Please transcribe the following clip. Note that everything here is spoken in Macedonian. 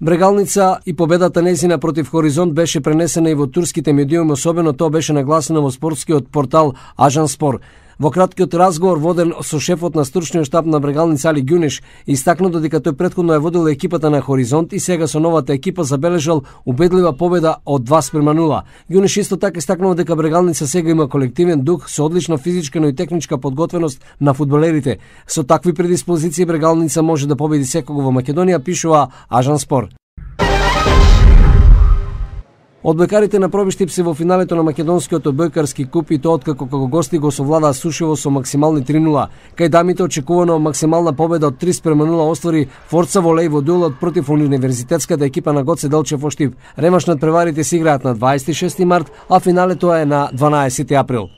Брегалница и победата нејзина против Хоризонт беше пренесена и во турските медиуми, особено тоа беше нагласено во спортскиот портал Ажанспор. Во краткиот разговор воден со шефот на стручниот штаб на Брегалница Али Гюнеш, истакна додека тој претходно ја водил екипата на Хоризонт и сега со новата екипа забележал убедлива победа од 2:0. Гюнеш исто така истакнал дека Брегалница сега има колективен дух со одлична физичка, но и техничка подготвеност на фудбалерите. Со такви предиспозиции Брегалница може да победи секого во Македонија, пишува Ажанспор. Одбојкарите на Пробиштип се во финалето на македонскиот одбојкарски куп и тоа откако како гости го совладаа сушево со максимални 3:0. Кај дамите очекувано максимална победа од 3:0 оствари Форца Волеј во дуелот против универзитетската екипа на Гоце Делчев во Штип. Ремаш над преварите се играат на 26 март, а финалето е на 12 април.